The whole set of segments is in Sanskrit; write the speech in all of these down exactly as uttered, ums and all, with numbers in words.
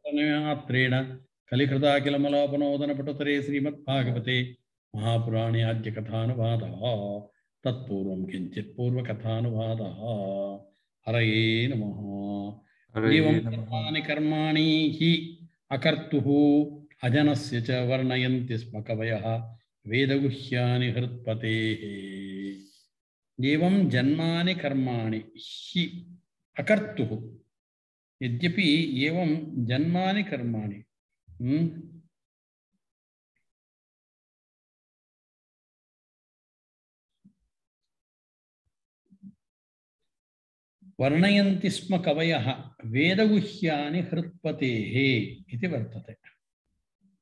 सम्यक्त्रेण कलिकृताखिलमलापनोदनपटुतरे श्रीमद्भागवते महापुराणे आद्यकथानुवादः तत्पूर्वं किञ्चित् पूर्वकथानुवादः। हरये नमः। एवं कर्माणि कर्माणि हि अकर्तुः अजनस्य च वर्णयन्ति स्म कवयः वेदगुह्यानि हृत्पतेः। एवं जन्मानि कर्माणि हि अकर्तुः यद्यपि एवं जन्मानि कर्माणि वर्णयन्ति स्म कवयः वेदगुह्यानि हृत्पतेः इति वर्तते।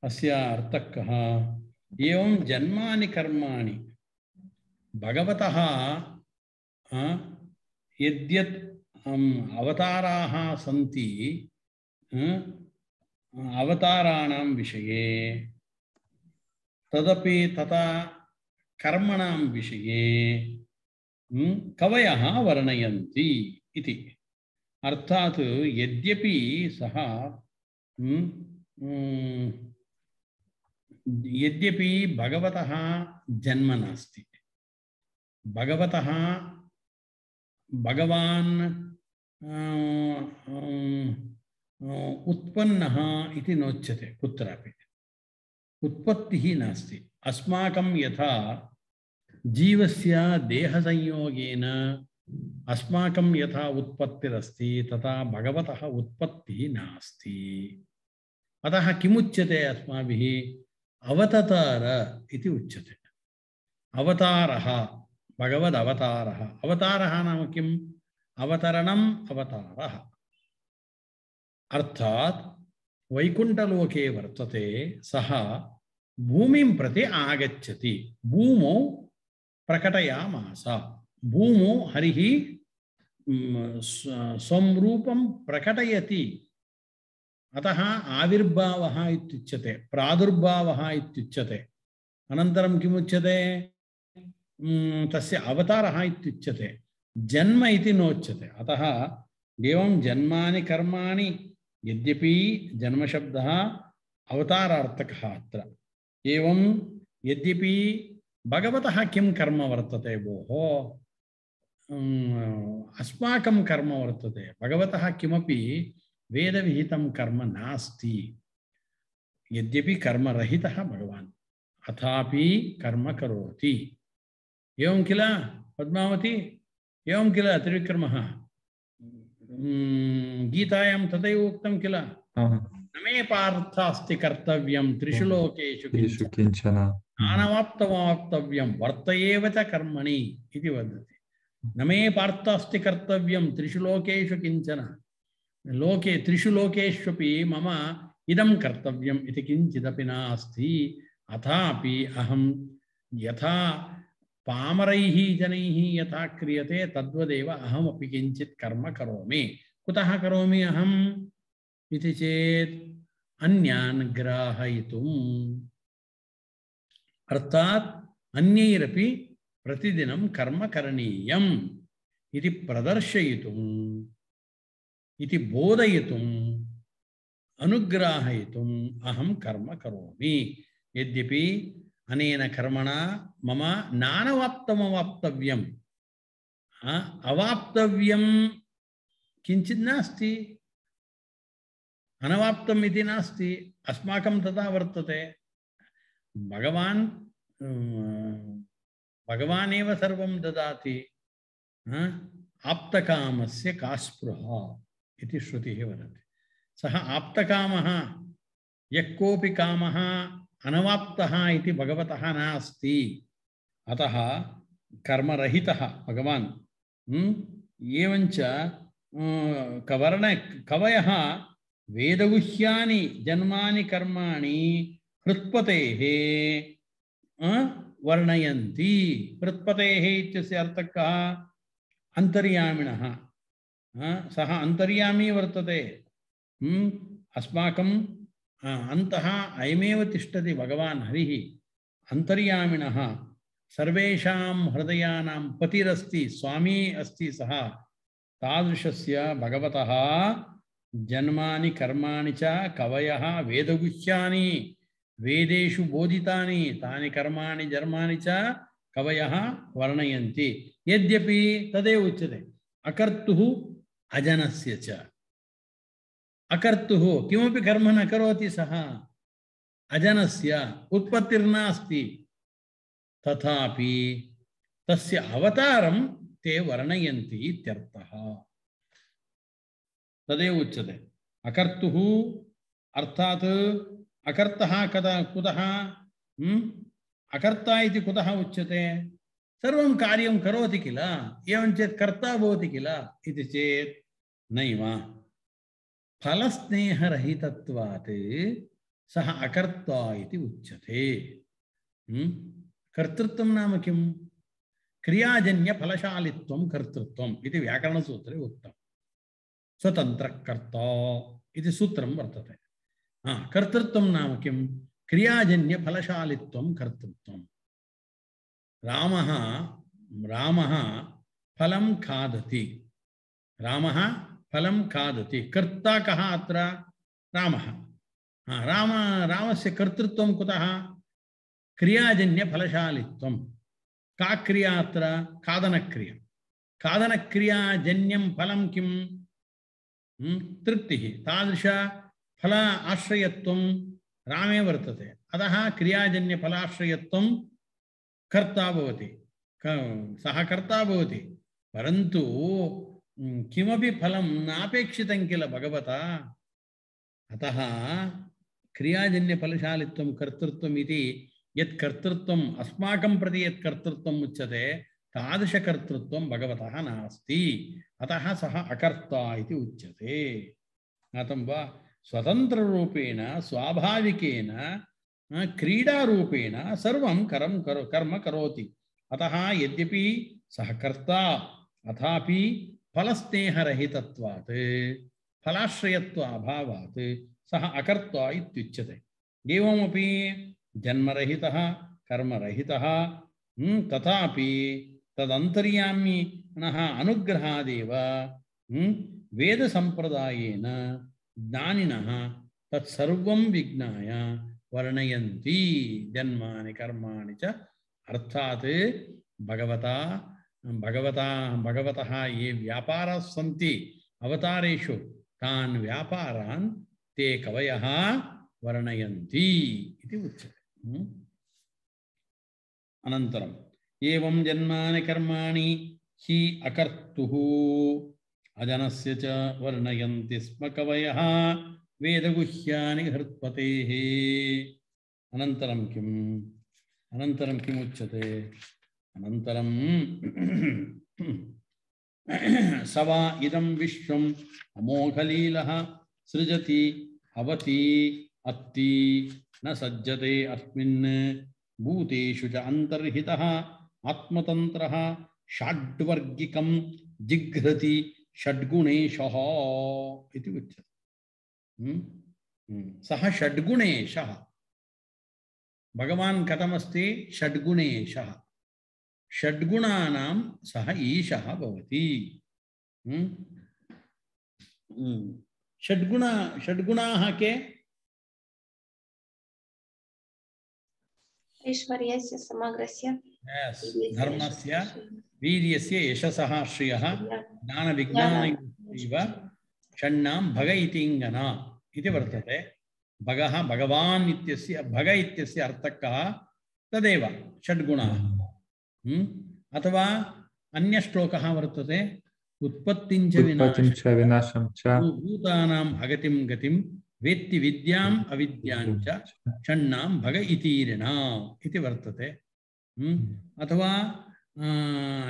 अस्य अर्थः कः? एवं जन्मानि कर्माणि भगवतः यद्यत् अवताराः सन्ति अवताराणां विषये तदपि तथा कर्मणां विषये कवयः वर्णयन्ति इति। अर्थात् यद्यपि सः यद्यपि भगवतः जन्म नास्ति, भगवतः भगवान् उत्पन्नः इति नोच्यते, कुत्रापि उत्पत्तिः नास्ति। अस्माकं यथा जीवस्य देहसंयोगेन अस्माकं यथा उत्पत्तिरस्ति तथा भगवतः उत्पत्तिः नास्ति। अतः किमुच्यते अस्माभिः? अवतार इति उच्यते। अवतारः भगवदवतारः। अवतारः नाम किम्? अवतरणम् अवतारः। अर्थात् वैकुण्ठलोके वर्तते, सः भूमिं प्रति आगच्छति, भूमौ प्रकटयामास। भूमौ हरिः स्वं रूपं प्रकटयति। अतः आविर्भावः इत्युच्यते, प्रादुर्भावः इत्युच्यते। अनन्तरं किमुच्यते? तस्य अवतारः इत्युच्यते। जन्म इति नोच्यते। अतः एवं जन्मानि कर्माणि, यद्यपि जन्मशब्दः अवतारार्थकः अत्र। एवं यद्यपि भगवतः किं कर्म वर्तते भोः? अस्माकं कर्म वर्तते। भगवतः किमपि वेदविहितं कर्म नास्ति। यद्यपि कर्मरहितः भगवान्, अथापि कर्म करोति। एवं किल पद्मावती? एवं किल त्रिविक्रमः? गीतायां तथैव उक्तं किल? न मे पार्थास्ति कर्तव्यं त्रिषु लोकेषु किंचन नानवाप्तमवाप्तव्यं वर्त एव च कर्मणि इति वदति। न मे पार्थास्ति कर्तव्यं त्रिषु लोकेषु किंचन, लोके त्रिषु लोकेष्वपि मम इदं कर्तव्यम् इति किंचिदपि नास्ति। अथापि अहं यथा पामरैः जनैः यथा क्रियते तद्वदेव अहमपि किञ्चित् कर्म करोमि। कुतः करोमि अहम् इति चेत् अन्यान् ग्राहयितुम्। अर्थात् अन्यैरपि प्रतिदिनं कर्म करणीयम् इति प्रदर्शयितुम्, इति बोधयितुम्, अनुग्राहयितुम् अहं कर्म करोमि। यद्यपि अनेन कर्मणा मम नानवाप्तमवाप्तव्यम्, अवाप्तव्यं किञ्चित् नास्ति, अनवाप्तम् इति नास्ति। अस्माकं तथा वर्तते। भगवान् भगवान् एव सर्वं ददाति। आप्तकामस्य का स्पृहा इति श्रुतिः वदति। सः आप्तकामः, यः कोऽपि कामः अनवाप्तः इति भगवतः नास्ति। अतः कर्मरहितः भगवान्। एवञ्च कवर्ण कवयः वेदगुह्यानि जन्मानि कर्माणि हृत्पतेः वर्णयन्ति। हृत्पतेः इत्यस्य अर्थः कः? अन्तर्यामिणः। सः अन्तर्यामी वर्तते। अस्माकं अन्तः अयमेव तिष्ठति भगवान् हरिः। अन्तर्यामिणः सर्वेषां हृदयानां पतिरस्ति, स्वामी अस्ति सः। तादृशस्य भगवतः जन्मानि कर्माणि च कवयः वेदगुह्यानि वेदेषु बोधितानि तानि कर्माणि जन्मानि च कवयः वर्णयन्ति यद्यपि तदेव उच्यते अकर्तुः अजनस्य च अकर्तुः किमपि कर्म न करोति सः अजनस्य उत्पत्तिर्नास्ति तथापि तस्य अवतारं ते वर्णयन्ति इत्यर्थः तदेव उच्यते अकर्तुः अर्थात् अकर्तः कदा कुतः अकर्ता इति कुतः उच्यते सर्वं कार्यं करोति किल एवं चेत् कर्ता भवति किल इति चेत् नैव फलस्नेहरहितत्वात् सः अकर्ता इति उच्यते कर्तृत्वं नाम किं क्रियाजन्यफलशालित्वं कर्तृत्वम् इति व्याकरणसूत्रे उक्तम् स्वतन्त्रकर्ता इति सूत्रं वर्तते हाँ कर्तृत्वं नाम किं क्रियाजन्यफलशालित्वं कर्तृत्वं रामः रामः फलं खादति रामः फलं खादति कर्ता कः अत्र रामः हाँ राम रामस्य कर्तृत्वं कुतः क्रियाजन्यफलशालित्वं का क्रिया अत्र खादनक्रिया खादनक्रियाजन्यं फलं किं तृप्तिः तादृश फल आश्रयत्वं रामे वर्तते अतः क्रियाजन्यफलाश्रयत्वं कर्ता भवति सः कर्ता भवति परन्तु किमपि फलं नापेक्षितं किल भगवता अतः क्रियाजन्यफलशालित्वं कर्तृत्वम् इति यत् कर्तृत्वम् अस्माकं प्रति यत् कर्तृत्वम् उच्यते तादृशकर्तृत्वं भगवतः नास्ति अतः सः अकर्ता इति उच्यते ज्ञातं वा स्वतन्त्ररूपेण स्वाभाविकेन क्रीडारूपेण सर्वं कर्म करो कर्म करोति अतः यद्यपि सः कर्ता अथापि फलस्नेहरहितत्वात् फलाश्रयत्व अभावात् सः अकर्ता इत्युच्यते एवमपि जन्मरहितः कर्मरहितः तथापि तदन्तर्यामिनः अनुग्रहादेव वेदसम्प्रदायेन ज्ञानिनः तत्सर्वं विज्ञाय वर्णयन्ति जन्मानि कर्माणि च अर्थात् भगवता भगवता भगवतः ये व्यापाराः सन्ति अवतारेषु तान् व्यापारान् ते कवयः वर्णयन्ति इति उच्यते अनन्तरम् एवं जन्मानि कर्माणि हि अकर्तुः अजनस्य च वर्णयन्ति स्म कवयः वेदगुह्यानि हृत्पतेः अनन्तरं किम् अनन्तरं किम् उच्यते अनन्तरं स वा इदं विश्वम् अमोघलीलः सृजति अवति अत्ति न सज्जते अस्मिन् भूतेषु च अन्तर्हितः आत्मतन्त्रः षड्वर्गिकं जिघ्रति षड्गुणेशः इति उच्यते सः षड्गुणेशः भगवान् कथमस्ति षड्गुणेशः षड्गुणानां सः ईशः भवति षड्गुण षड्गुणाः के ऐश्वर्यस्य समग्रस्य धर्मस्य वीर्यस्य यशसः श्रियः ज्ञानविज्ञानयोश्चैव षण्णां भग इतिङ्गना इति वर्तते भगः भगवान् इत्यस्य भग इत्यस्य अर्थः कः तदेव षड्गुणाः अथवा अन्यश्लोकः वर्तते उत्पत्तिं च विनाशं च भूतानां भगतिं गतिं वेत्ति विद्याम् अविद्यां च षण्णां भग इतीरिणा इति वर्तते अथवा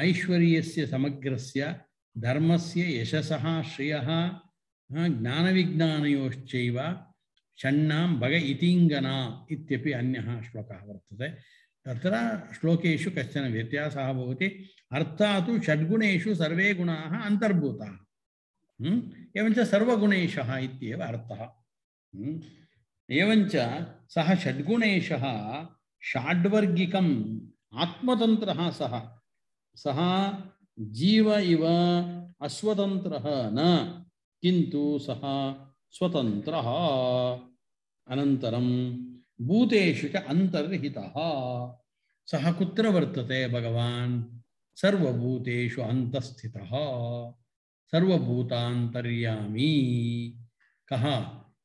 ऐश्वर्यस्य समग्रस्य धर्मस्य यशसः श्रियः ज्ञानविज्ञानयोश्चैव षण्णां भग इतिङ्गना इत्यपि अन्यः श्लोकः वर्तते तत्र श्लोकेषु कश्चन व्यत्यासः भवति अर्थात् षड्गुणेषु सर्वे गुणाः अन्तर्भूताः एवञ्च सर्वगुणेशः इत्येव अर्थः एवञ्च सः षड्गुणेशः षड्वर्गिकम् आत्मतन्त्रः सः सः जीव इव अस्वतन्त्रः न किन्तु सः स्वतन्त्रः अनन्तरं भूतेषु च अन्तर्हितः सः कुत्र वर्तते भगवान् सर्वभूतेषु अन्तःस्थितः सर्वभूतान्तर्यामी कः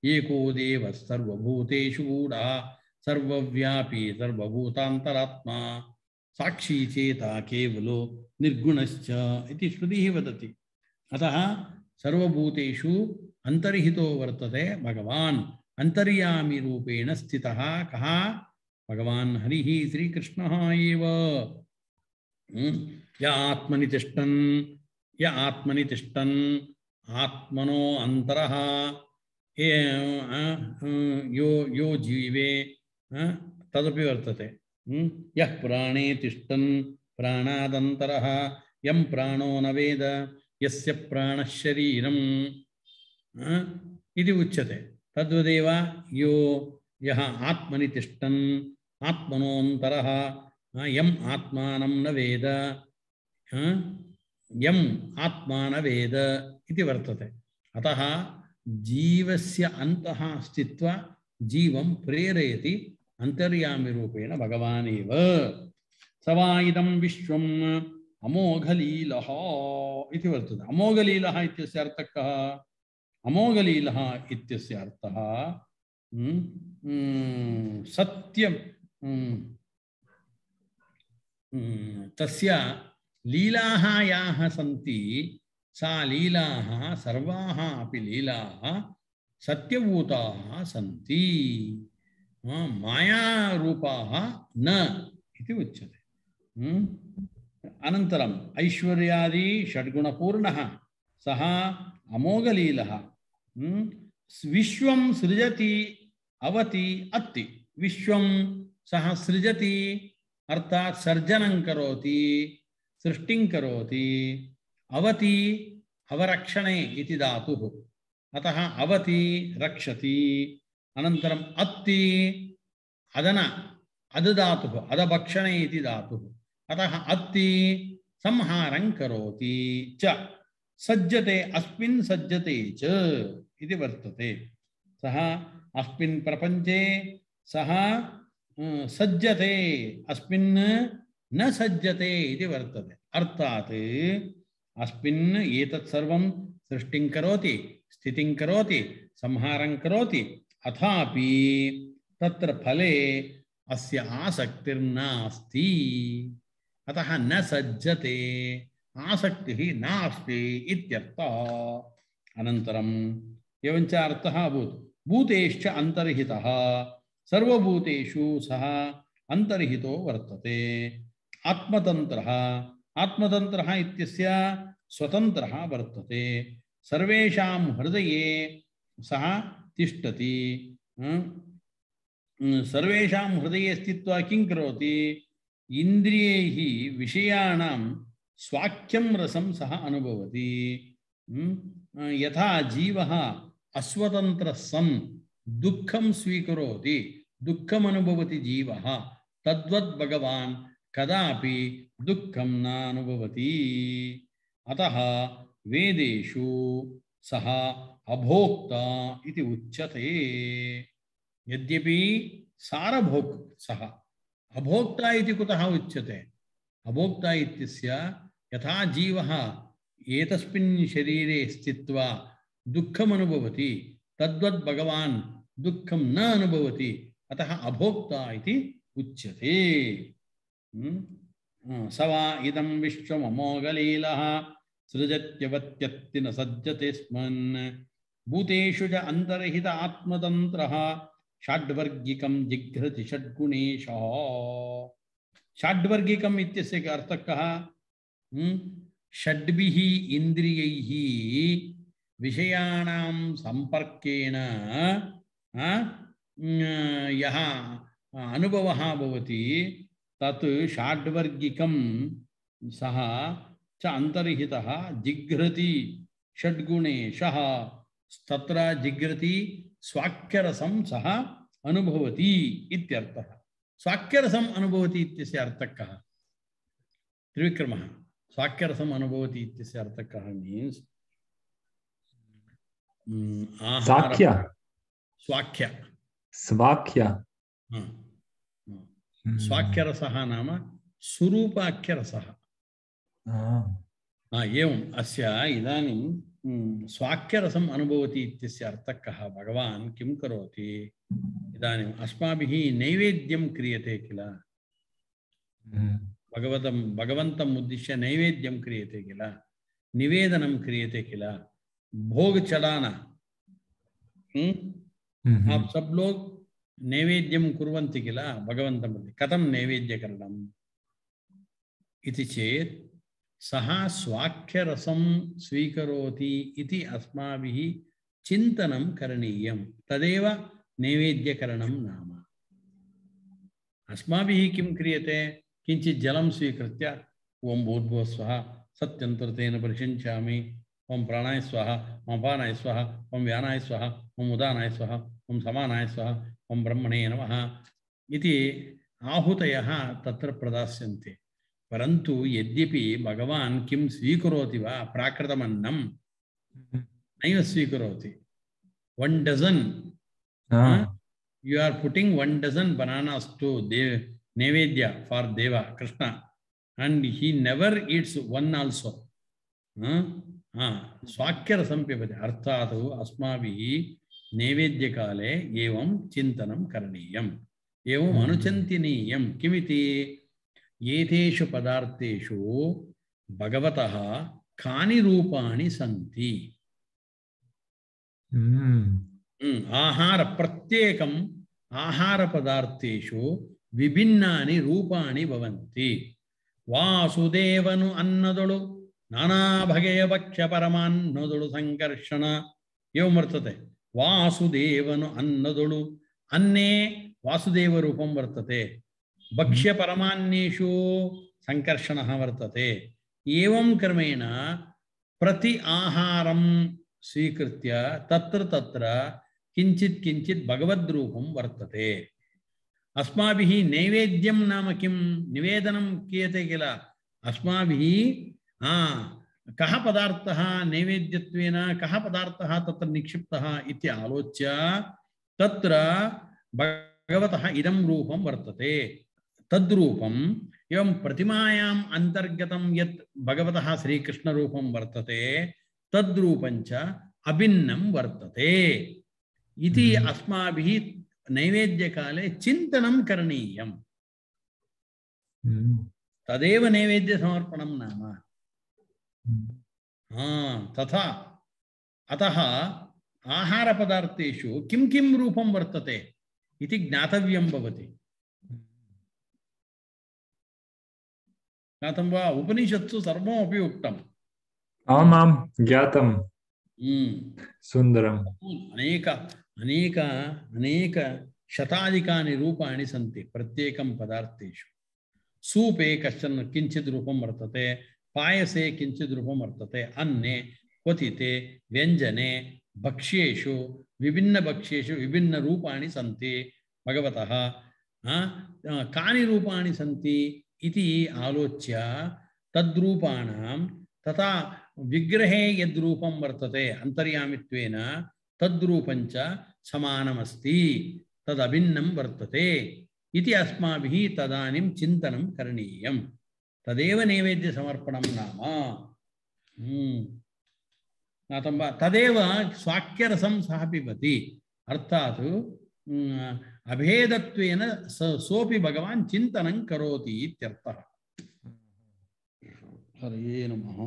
एको देवः सर्वभूतेषु गूढः सर्वव्यापी सर्वभूतान्तरात्मा साक्षी चेता केवलो निर्गुणश्च इति श्रुतिः वदति। अतः सर्वभूतेषु अन्तर्हितो वर्तते भगवान् अन्तर्यामी रूपेण स्थितः कः भगवान् हरिः श्रीकृष्णः एव। य आत्मनि तिष्ठन् य आत्मनि तिष्ठन् आत्मनो अन्तरः यो यो जीवे तदपि वर्तते। यः प्राणे तिष्ठन् प्राणादन्तरः यं प्राणो न वेद यस्य प्राणः शरीरम् इति उच्यते। तद्वदेव यो यः आत्मनि तिष्ठन् आत्मनोऽन्तरः यम् आत्मानं न वेद यम् आत्मा न वेद इति वर्तते। अतः जीवस्य अन्तः स्थित्वा जीवं प्रेरयति अंतर्यामी रूपेण भगवान् एव। स वा इदं विश्वम् अमोघलीलः इति वर्तते। अमोघलीलः इत्यस्य अर्थः कः? अमोघलीलः इत्यस्य अर्थः सत्यं तस्य लीलाः याः सन्ति सा लीलाः सर्वाः अपि लीलाः सत्यभूताः सन्ति मायारूपाः न इति उच्यते। अनन्तरम् ऐश्वर्यादि षड्गुणपूर्णः सः अमोघलीलः विश्वं सृजति अवति अत्ति। विश्वं सः सृजति अर्थात् सर्जनं करोति सृष्टिं करोति। अवति अवरक्षणे इति धातुः अतः अवति रक्षति। अनन्तरम् अत्ति अदन अदधातुः अदभक्षणे इति धातुः अतः अत्ति संहारं करोति च। सज्जते अस्मिन् सज्जते च इति वर्तते। सः अस्मिन् प्रपञ्चे सः सज्जते अस्मिन् न सज्जते इति वर्तते। अर्थात् अस्मिन् एतत् सर्वं सृष्टिं करोति स्थितिं करोति संहारं करोति अथापि तत्र फले अस्य आसक्तिर्नास्ति। अतः न सज्जते आसक्तिः नास्ति इत्यर्थः। अनन्तरम् एवञ्च अर्थः अभूत् भूतेश्च अन्तर्हितः सर्वभूतेषु सः अन्तर्हितो वर्तते। आत्मतन्त्रः आत्मतन्त्रः इत्यस्य स्वतन्त्रः वर्तते। सर्वेषां हृदये सः तिष्ठति। सर्वेषां हृदये स्थित्वा किं करोति? इन्द्रियैः विषयाणां स्वाख्यं रसं सः अनुभवति। यथा जीवः अस्वतन्त्रः सन् दुःखं स्वीकरोति दुःखम् अनुभवति जीवः तद्वत् भगवान् कदापि दुःखं न अनुभवति। अतः वेदेषु सः अभोक्ता इति उच्यते। यद्यपि सारभोक् सः अभोक्ता इति कुतः उच्यते? अभोक्ता इत्यस्य यथा जीवः एतस्मिन् शरीरे स्थित्वा दुःखम् अनुभवति तद्वत् भगवान् दुःखं न अनुभवति अतः अभोक्ता इति उच्यते। स वा इदं विश्वम् अमोघलीलः सृजत्यवत्यत्ति न सज्जते स्मन् भूतेषु च अन्तर्हित आत्मतन्त्रः षड्वर्गिकं जिघ्रति षड्गुणेशः। षड्वर्गिकम् इत्यस्य अर्थः कः? षड्भिः इन्द्रियैः विषयाणां सम्पर्केण यः अनुभवः भवति तत् षड्वर्गिकं सः च अन्तर्हितः जिघ्रति षड्गुणेशः। तत्र जिघ्रति स्वाक्यरसं सः अनुभवति इत्यर्थः। स्वाक्यरसम् अनुभवति इत्यस्य अर्थः कः? त्रिविक्रमः स्वाक्यरसम् अनुभवति इत्यस्य अर्थः कः? मीन्स् साख्य स्वाख्य स्वाख्य स्वाख्यरसः नाम स्वरूपाख्यरसः एवम् अस्य इदानीं स्वाख्यरसम् अनुभवति इत्यस्य अर्थः कः भगवान् किं करोति इदानीम् अस्माभिः नैवेद्यं क्रियते किल भगवतं भगवन्तम् उद्दिश्य नैवेद्यं क्रियते किल निवेदनं क्रियते किल भोग चढ़ाना आप सब लोग नैवेद्यं कुर्वन्ति किल भगवन्तं प्रति कथं नैवेद्यकरणम् इति चेत् सः स्वाख्यरसं स्वीकरोति इति अस्माभिः चिन्तनं करणीयं तदेव नैवेद्यकरणं नाम अस्माभिः किं क्रियते किञ्चित् जलं स्वीकृत्य ओं भूर्भुवः स्वः सत्यन्तर्तेन परिषिञ्चामि ओं प्राणाय स्वाहा ओं अपानाय स्वाहा ओं व्यानाय स्वाहा ओं उदानाय स्वाहा ओं समानाय स्वाहा ओं ब्रह्मणे नमः इति आहुतयः तत्र प्रदास्यन्ते परन्तु यद्यपि भगवान् किं स्वीकरोति वा प्राकृतमन्नं नैव स्वीकरोति one dozen ah. uh, you are putting one dozen bananas to Dev Nevedya for Deva Krishna and he never eats one also uh, uh, स्वाख्यरसं पिबति अर्थात् अस्माभिः नैवेद्यकाले एवं चिन्तनं करणीयम् एवम् अनुचिन्तनीयं किमिति एतेषु पदार्थेषु भगवतः कानि रूपाणि सन्ति आहार प्रत्येकम् आहार पदार्थेषु विभिन्नानि रूपाणि भवन्ति वासुदेवनु अन्नदुळु नाना बಗೆಯ ಭಕ್ಷ್ಯ ಪರಮಾನ್ನದುಳು ಸಂಕರ್ಷಣ एवं वर्तते वासुदेवनु अन्नदुळु अन्ने वासुदेव रूपं वर्तते भक्ष्य परमान्नेषु संकर्षणः वर्तते एवं क्रमेण प्रति आहारं स्वीकृत्य तत्र तत्र किंचित किंचित भगवद्रूपं वर्तते अस्माभिः नैवेद्यं नाम किं निवेदनं क्रियते किल अस्माभिः आ कः पदार्थः नैवेद्यत्वेन कः पदार्थः तत्र निक्षिप्तः इति आलोच्य तत्र भगवतः इदं रूपं वर्तते तद्रूपम् एवं प्रतिमायाम् अन्तर्गतं यत् भगवतः श्रीकृष्णरूपं वर्तते तद्रूपञ्च अभिन्नं वर्तते इति अस्माभिः नैवेद्यकाले चिन्तनं करणीयम् तदेव नैवेद्यसमर्पणं नाम हाँ तथा अतः आहारपदार्थेषु किं किं रूपं वर्तते इति ज्ञातव्यं भवति ज्ञातं वा उपनिषत्सु सर्वमपि उक्तम् आमां ज्ञातं सुन्दरम् अनेक अनेक अनेक शताधिकानि रूपाणि सन्ति प्रत्येकं पदार्थेषु सूपे कश्चन किञ्चित् रूपं वर्तते पायसे किंचित् रूपं वर्तते अन्ने क्वथिते व्यंजने भक्ष्येषु विभिन्न भक्ष्येषु विभिन्न रूपाणि सन्ति भगवतः कानि रूपाणि सन्ति इति आलोच्य तद्रूपाणां तथा विग्रहे यद्रूपं वर्तते अन्तर्यामित्वेन तद्रूपञ्च समानमस्ति तदभिन्नं वर्तते इति अस्माभिः तदानीं चिन्तनं करणीयम् तदेव नैवेद्य समर्पणं नाम ज्ञातं वा तदेव स्वाख्यरसं सः पिबति अर्थात् अभेदत्वेन सोऽपि भगवान् चिन्तनं करोति इत्यर्थः हरे नमः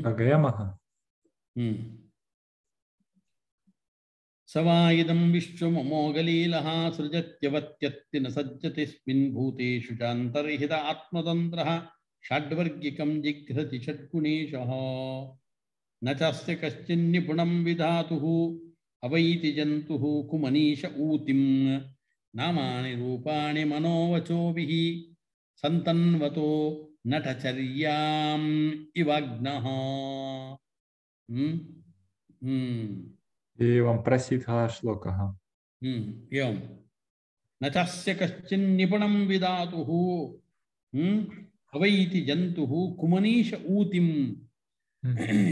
अगयमः सवायिदं विश्वमोगलीलः सृजत्यवत्यत्ति न सज्जतिस्मिन् भूतेषु चान्तर्हित आत्मतन्त्रः षड्वर्गिकं जिघ्रति षड्गुणेशः न चास्य कश्चिन्निपुणं विधातुः अवैति जन्तुः कुमनीश ऊतिं नामानि रूपाणि मनोवचोभिः सन्तन्वतो नटचर्याम् इवाग्नः एवं प्रसिद्धः श्लोकः एवं न चास्य कश्चिन्निपुणं विधातुः अवैति जन्तुः कुमनीश ऊतिम्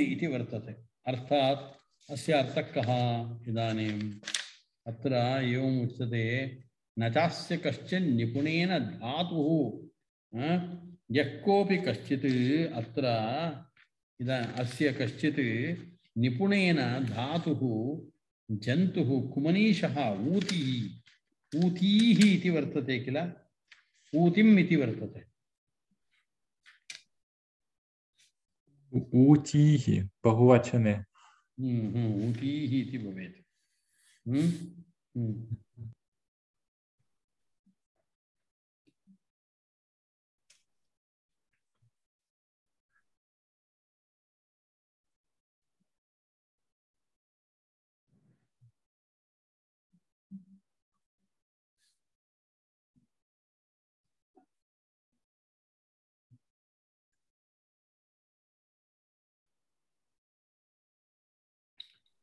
इति वर्तते। अर्थात् अस्य अर्थः कः? इदानीम् अत्र एवम् उच्यते, न चास्य कश्चित् निपुणेन धातुः, यः कोऽपि कश्चित् अत्र इदा अस्य कश्चित् निपुणेन धातुः जन्तुः कुमनीशः ऊतिः ऊतीः इति वर्तते किल, ऊतिम् इति वर्तते। ऊतीः बहुवचने ऊतीः इति भवेत्।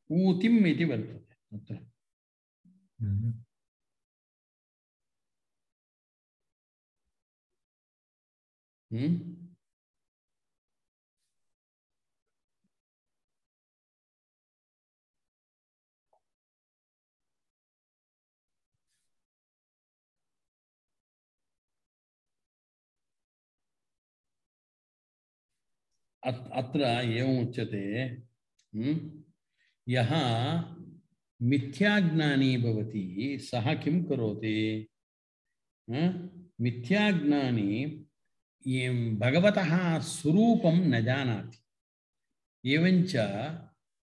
ऊतिम् इति वर्तते अत्र। अत्र एवम् उच्यते, यः मिथ्याज्ञानी भवति सः किं करोति? मिथ्याज्ञानी भगवतः स्वरूपं न जानाति। एवञ्च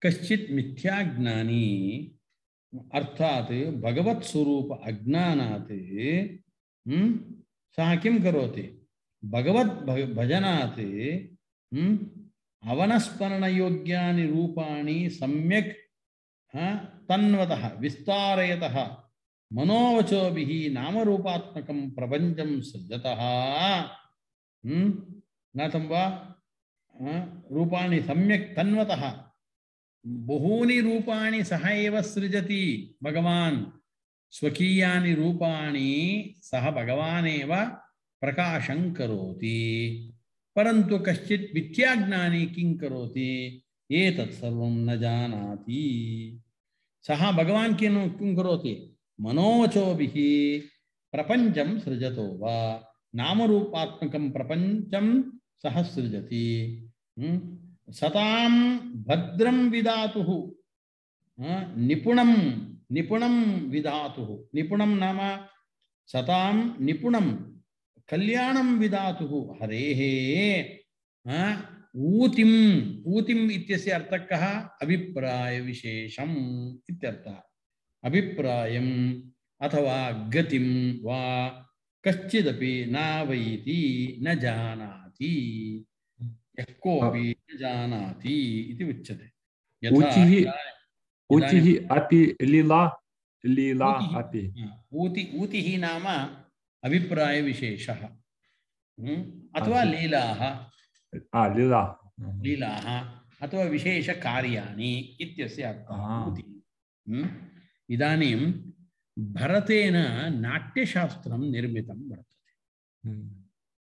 कश्चित् मिथ्याज्ञानी अर्थात् भगवत्स्वरूप अज्ञानात् सः किं करोति? भगवत् भजनात् अवनस्मरणयोग्यानि रूपाणि सम्यक् तन्वतः विस्तारयतः मनोवचोभिः नामरूपात्मकं प्रपञ्चं सृजतः ज्ञातं वा? रूपाणि सम्यक् तन्वतः बहूनि रूपाणि सः एव सृजति भगवान्। स्वकीयानि रूपाणि सः भगवान् एव प्रकाशं करोति। परन्तु कश्चित् मिथ्याज्ञानी किं करोति? एतत् सर्वं न जानाति। सः भगवान् किं किं करोति? मनोवचोभिः प्रपञ्चं सृजतो वा नामरूपात्मकं प्रपञ्चं सः सृजति। सतां भद्रं विधातुः निपुणं निपुणं विधातुः। निपुणं नाम सतां निपुणं कल्याणं विधातुः हरेः ऊतिम्। ऊतिम् इत्यस्य अर्थः कः? अभिप्राय विशेषम् इत्यर्थः। अभिप्रायम् अथवा गतिं वा कश्चिदपि न वैति न जानाति, यः कोऽपि न जानाति इति उच्यते। ऊतिः ऊतिः अपि लीला लीला अपि ऊति ऊतिः नाम अभिप्राय विशेषः अथवा लीलाः लीला लीलाः अथवा विशेष कार्याणि इत्यस्य अर्थः। इदानीं भरतेन नाट्यशास्त्रं निर्मितं वर्तते।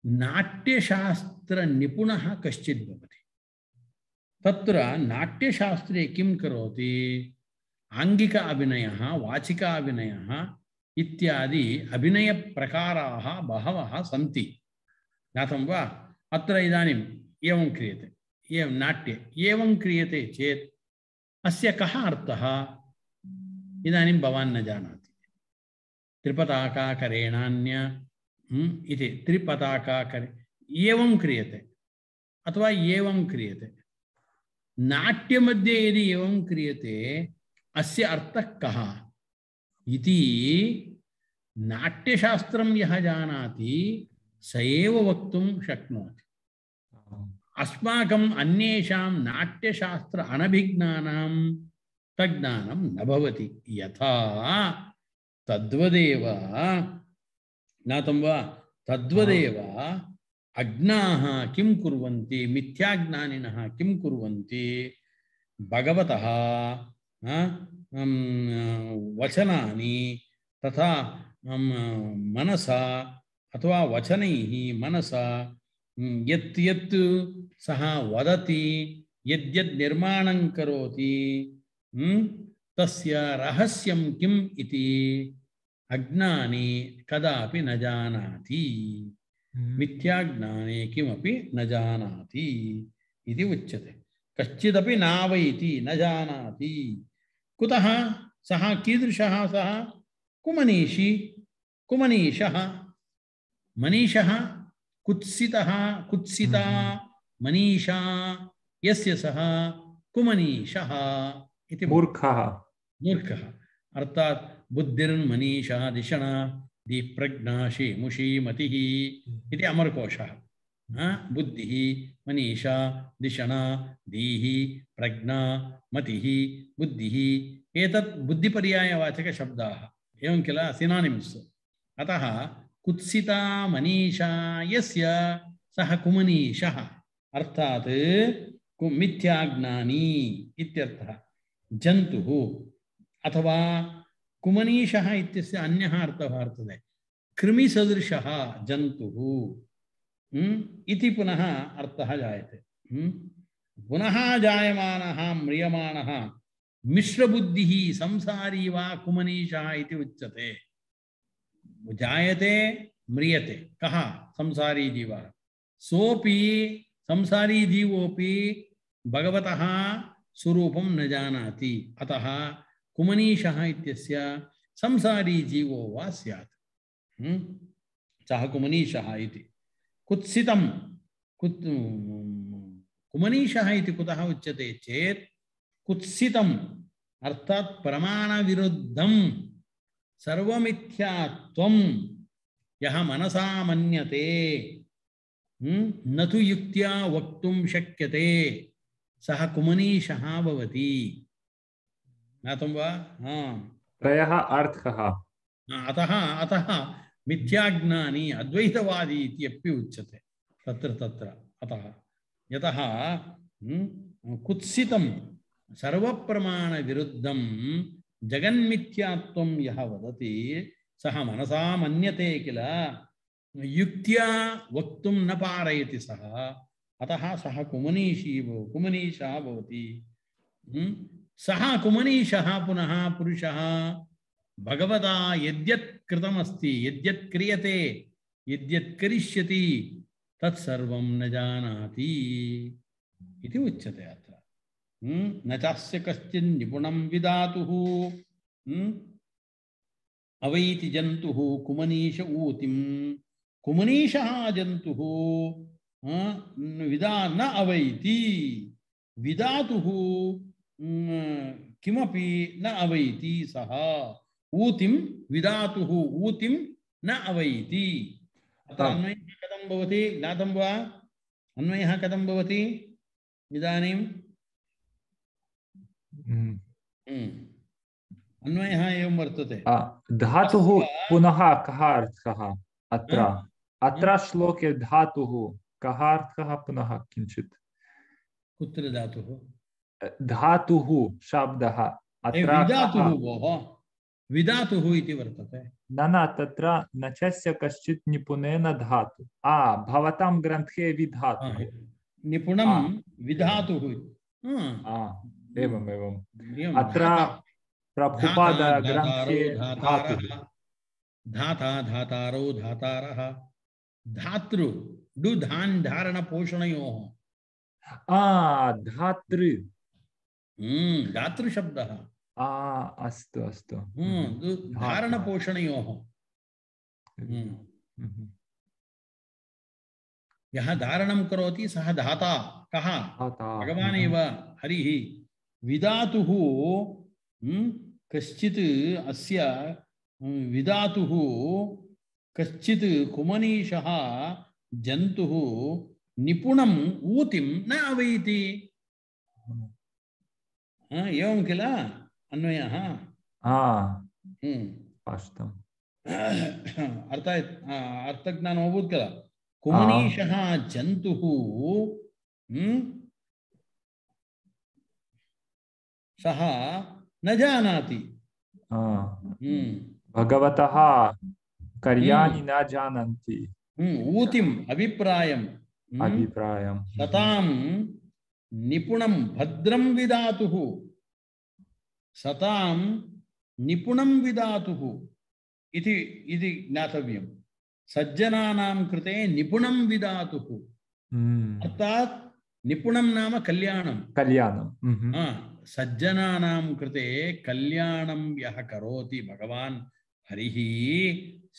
नाट्यशास्त्र निपुणः कश्चित् भवति। तत्र नाट्यशास्त्रे किं करोति? आंगिक अभिनयः, वाचिक अभिनयः इत्यादि अभिनयप्रकाराः बहवः सन्ति। ज्ञातं वा? अत्र इदानीम् एवं क्रियते, एवं नाट्ये एवं क्रियते चेत् अस्य कः अर्थः? इदानीं भवान् न जानाति। त्रिपताकाकरेणान्य इति त्रिपताकाकरे एवं क्रियते अथवा एवं क्रियते। नाट्यमध्ये यदि एवं क्रियते अस्य अर्थः कः इति नाट्यशास्त्रं यः जानाति स एव वक्तुं शक्नोति। अस्माकम् अन्येषां नाट्यशास्त्र अनभिज्ञानां तज्ज्ञानं न भवति। यथा तद्वदेव ज्ञातं वा? तद्वदेव अज्ञाः किं कुर्वन्ति? मिथ्याज्ञानिनः किं कुर्वन्ति? भगवतः वचनानि तथा मनसा अथवा वचनैः मनसा यत् यत् सः वदति यद्यद् निर्माणं करोति तस्य रहस्यं किम् इति अज्ञानी कदापि न जानाति मिथ्याज्ञाने किमपि न जानाति इति उच्यते कश्चिदपि नावैति न जानाति कुतः सः कीदृशः सः कुमनीषी कुमनीषः मनीषः कुत्सितः कुत्सिता मनीषा यस्य सः कुमनीषः इति मूर्खः मूर्खः अर्थात बुद्धिर्मनीषा दिशना दीप्रज्ञा शेमुषी मतिः इति अमरकोशः बुद्धिः मनीषा दिशना दीः प्रज्ञा मतिः बुद्धिः एतत् बुद्धिपर्यायवाचकशब्दाः एवं किल सिनोनिम्स् अतः कुत्सिता मनीषा यस्य सः कुमनीषः अर्थात मिथ्याज्ञानी इत्यर्थः जन्तुः अथवा कुमनीषः इत्यस्य अन्यः अर्थः वर्तते कृमिसदृशः जन्तुः इति पुनः अर्थः जायते पुनः जायमानः म्रियमाणः मिश्रबुद्धिः संसारी वा कुमनीषः इति उच्यते जायते म्रियते कः संसारी जीवः सोपि संसारी जीवोपि भगवतः स्वरूपं न जानाति अतः कुमनीषः इत्यस्य संसारी जीवो वा स्यात् सः कुमनीषः इति कुत्सितं कुत् कुमनीषः इति कुतः उच्यते चेत् कुत्सितम् अर्थात् प्रमाणविरुद्धं सर्वमिथ्यात्वं यः मनसा मन्यते न तु युक्त्या वक्तुं शक्यते सः कुमनीषः भवति ज्ञातं वा त्रयः अर्थः अतः अतः मिथ्याज्ञानी अद्वैतवादी इत्यपि उच्यते तत्र तत्र अतः यतः कुत्सितं सर्वप्रमाणविरुद्धं जगन्मिथ्यात्वं यः वदति सः मनसा मन्यते किल युक्त्या वक्तुं न पारयति सः अतः सः कुमनीषी कुमनीषः भवति सः कुमनीषः पुनः पुरुषः भगवता यद्यत् कृतमस्ति यद्यत् क्रियते यद्यत् करिष्यति तत्सर्वं न जानाति इति उच्यते अत्र न चास्य कश्चिन् निपुणं विदातुः अवैति जन्तुः कुमनीष ऊतिं कुमनीषः जन्तुः विदा न अवैति विदातुः किमपि न अवैति सः ऊतिं विदातुः ऊतिं न अवैति अत्र अन्वयः कथं भवति ज्ञातं वा अन्वयः कथं भवति इदानीं अन्वयः एवं वर्तते धातुः पुनः कः अर्थः अत्र अत्र श्लोके धातुः कः अर्थः पुनः किञ्चित् कुत्र धातुः धातुः शब्दः अत्र विधातुः भोः विधातुः इति वर्तते न न तत्र नचस्य कश्चित् निपुणेन धातु आ भवतां ग्रन्थे विधातुः निपुणं विधातुः एवम् एवम् अत्र प्रभुपाद ग्रन्थे धातुः धाता धातारो धातारः धातृ डु धान् धारण पोषणयोः आ धातृ धातृ शब्दः आ अस्तु अस्तु धारण पोषणयोः यः धारणं करोति सः धाता कः भगवान् एव हरिः विधातुः कश्चित् अस्य विधातुः कश्चित् कुमनीषः जन्तुः निपुणम् ऊतिं न अवैति एवं किल अन्वयः स्पष्टम् अर्थात् अर्थज्ञानम् अभूत् किल कुमनीषः जन्तुः सः न जानाति भगवतः कार्याणि न जानन्ति ऊतिम अभिप्रायम अभिप्रायम सताम निपुणं भद्रं विदातुः सताम निपुणं विदातुः इति इति ज्ञातव्यं सज्जनानां कृते निपुणं विदातुः अर्थात् निपुणं नाम कल्याणं कल्याणं सज्जनानां कृते कल्याणं यः करोति भगवान् हरिः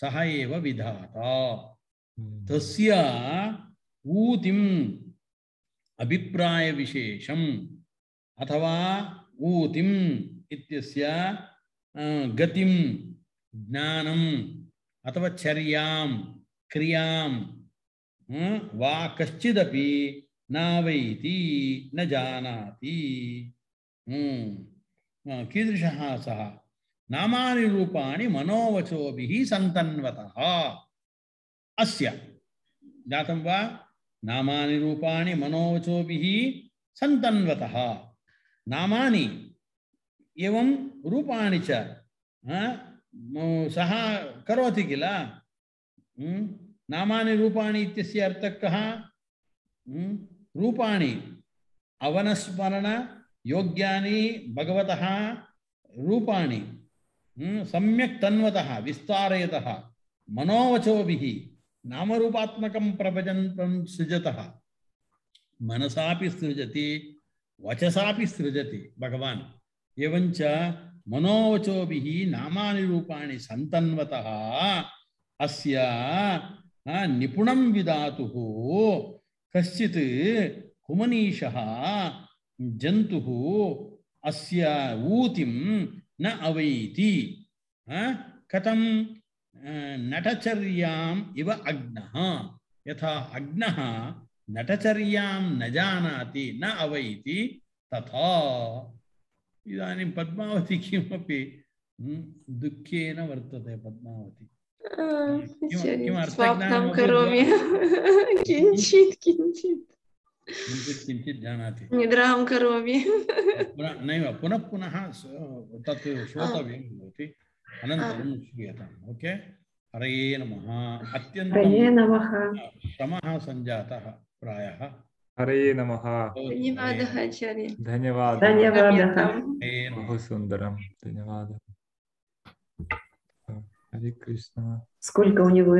सः एव विधाता तस्य ऊतिम् अभिप्राय विशेषम् अथवा ऊतिम् इत्यस्य गतिं ज्ञानम् अथवा चर्यां क्रियां वा कश्चिदपि नावैति न जानाति कीदृशः सः नामानि रूपाणि मनोवचोभिः सन्तन्वतः अस्य ज्ञातं वा नामानि रूपाणि मनोवचोभिः सन्तन्वतः नामानि एवं रूपाणि च सः करोति किल नामानि रूपाणि इत्यस्य अर्थः कः रूपाणि अवनस्मरण योग्यानि भगवतः रूपाणि सम्यक् तन्वतः विस्तारयतः मनोवचोभिः नामरूपात्मकं प्रपञ्चं सृजतः मनसापि सृजति वचसापि सृजति भगवान् एवञ्च मनोवचोभिः नामानि रूपाणि सन्तन्वतः अस्य निपुणं विदातुः कश्चित् कुमनीषः जन्तुः अस्य ऊतिं न अवैति कथं नटचर्याम् इव अग्नः यथा अग्नः नटचर्यां न जानाति न अवैति तथा इदानीं पद्मावती किमपि दुःखेन वर्तते पद्मावती स्वप्नं करोमि किञ्चित् किञ्चित् किञ्चित् जानाति निद्रां करोमि नैव पुनः पुनः तत् श्रोतव्यं भवति अनन्तरं श्रूयताम् ओके हरये नमः अत्यन्तं श्रमः सञ्जातः प्रायः हरये नमः धन्यवादः आचार्य धन्यवादः धन्यवादः बहु सुन्दरं धन्यवादः हरे कृष्ण сколько у него